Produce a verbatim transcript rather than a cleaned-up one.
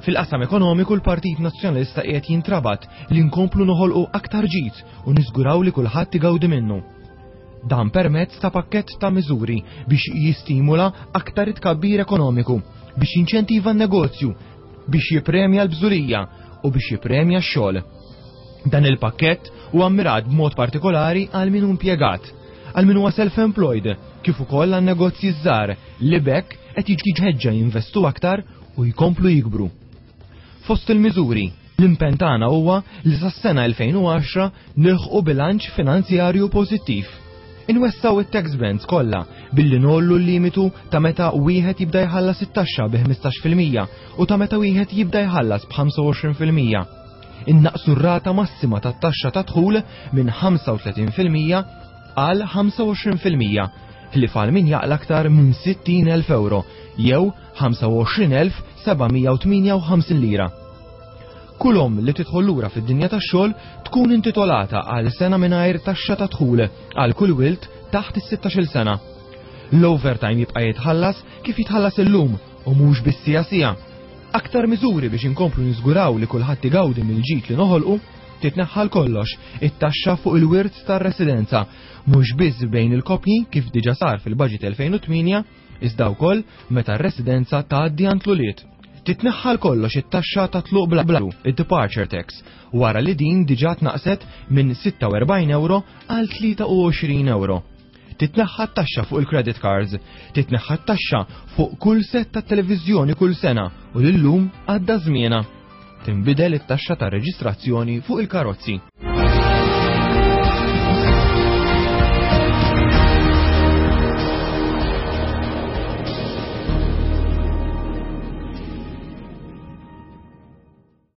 Fil-qasam ekonomiku, l-Partit Nazzjonalista qiegħed jintrabat li nkomplu noħolqu aktar ġid u niżguraw li kulħadd igawdi minnu. Dan permezz ta' pakkett ta' miżuri biex jistimula aktar it-tkabbir ekonomiku, biex jinċentiva n-negozju, biex jippremja l-bżulija u biex jippremja x-xogħol. Dan il-pakkett huwa mmirat b'mod partikolari għal min hu impjegat, għal min huwa self-employed, kif ukoll għan negozji żgħar li b'hekk qed jiġu mħeġġa jinvestu aktar u jkomplu jikbru. Fost il-miżuri, l-impenn tagħna huwa li sas-sena elfejn u għaxra nilħqu bilanċ finanzjarju pożittiv. Inwessgħu it-tax bands kollha billi ngħollu l-limitu ta' meta wieħed jibda jħallas it-taxxa bi ħmistax fil-mija u ta' meta wieħed jibda jħallas b'ħamsa u għoxrin fil-mija. Innaqsu r-rata massima tat-taxxa ta' dħul minn ħamsa u tletin fil-mija għal ħamsa u għoxrin fil-mija ħlief għal min jaqla aktar minn sittin elf euro jew ħamsa u għoxrin elf seba' mija u tmienja u ħamsin lira. Kull omm li tidħol lura fid-dinja tax-xogħol tkun intitolata għal sena mingħajr taxxa ta' dħul għal kull wild taħt is-sittax-il sena. L-overtime jibqa' jitħallas kif jitħallas illum u mhux biss siegħa siegħa. Aktar miżuri biex inkomplu niżguraw li kulħadd igawdi mill-ġid li noħolqu: titneħħa għal kollox it-taxxa fuq il-wirt tar-residenza, mhux biss bejn il-kopji kif diġà sar fil-Budget elfejn u tmienja, iżda wkoll meta r-residenza tgħaddi għand l-ulied. Titneħħa għal kollox it-taxxa ta' tluq bla blu, id-departure tax, wara li din diġà tnaqset minn sitta u erbgħin euro għal tlieta u għoxrin euro. Titneħħa t-taxxa fuq il-credit cards, titneħħa t-taxxa fuq kull set ta' televiżjoni kull sena u l-lum għadda żmiena. Tinbidel it-taxxa ta' reġistrazzjoni fuq il-karozzi.